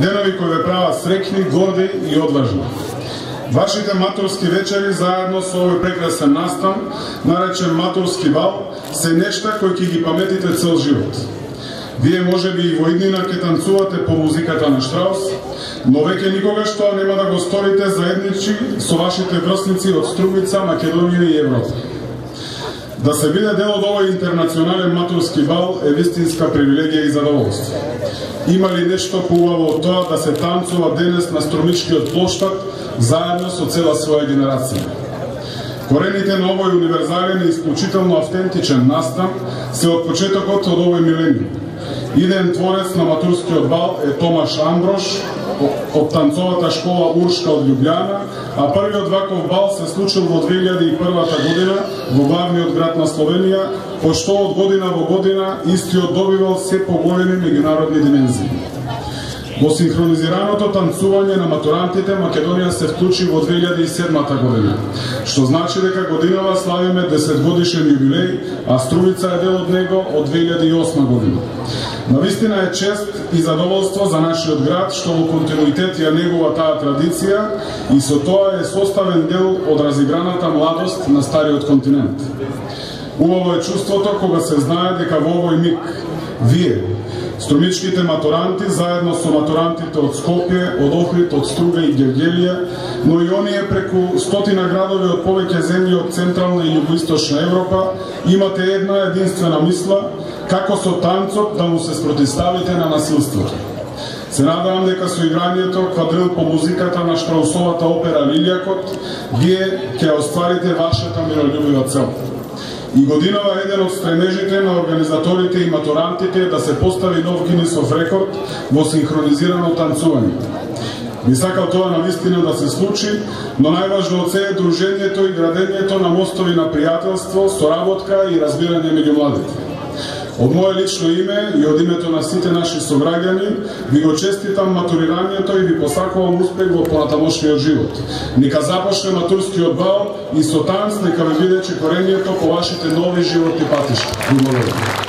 денови кои ве прават среќни, горди и одважни. Вашите матурски вечери заедно со овој прекрасен настан, наречен матурски бал, се нешта кои ќе ги паметите цел живот. Вие можеби и во иднина ќе танцувате по музиката на Штраус, но веќе никогаш тоа нема да го сторите заедничи со вашите врсници од Струмица, Македонија и Европа. Да се биде дел од овој интернационален матурски бал е вистинска привилегија и задоволство. Има ли нешто поубаво од тоа да се танцува денес на Струмичкиот плоштад заедно со цела своја генерација? Корените на овој универзален и исклучително автентичен настан се од почетокот од овој милениум. Иден творец на матурскиот бал е Томаш Амброш од танцовата школа Уршка од Љубљана, а првиот ваков бал се случил во 2001 година во главниот град на Словенија, пошто од година во година истиот добивал се поголеми меѓународни димензии. Во синхронизираното танцување на матурантите Македонија се вклучи во 2007 година, што значи дека годинава славиме 10 годишен јубилеј, а Струмица е дел од него од 2008 година. Навистина е чест и задоволство за нашиот град што во континуитет ја негува таа традиција и со тоа е составен дел од разиграната младост на стариот континент. Убаво е чувството кога се знае дека во овој миг вие, струмичките матуранти, заедно со матурантите од Скопје, од Охрид, од Струга и Гевгелија, но и оние преку стотина градови од повеќе земји од Централна и Југоисточна Европа, имате една единствена мисла, како со танцот да му се спротивставите на насилството. Се надевам дека со играњето квадрил по музиката на Штраусовата опера Лилијакот, вие ќе остварите вашата мирољубива цел. И годинава еден од стремежите на организаторите и матурантите е да се постави нов Гинисов рекорд во синхронизирано танцување. Би сакал тоа навистина да се случи, но најважно од се е дружењето и градењето на мостови на пријателство, соработка и разбирање меѓу младите. Од моје лично име и од името на сите наши сограѓани ви го честитам матурирањето и ви посакувам успех во понатамошниот живот. Нека започне матурскиот бал и со танц нека ви биде чекорењето по вашите нови животни патишта. Благодарам.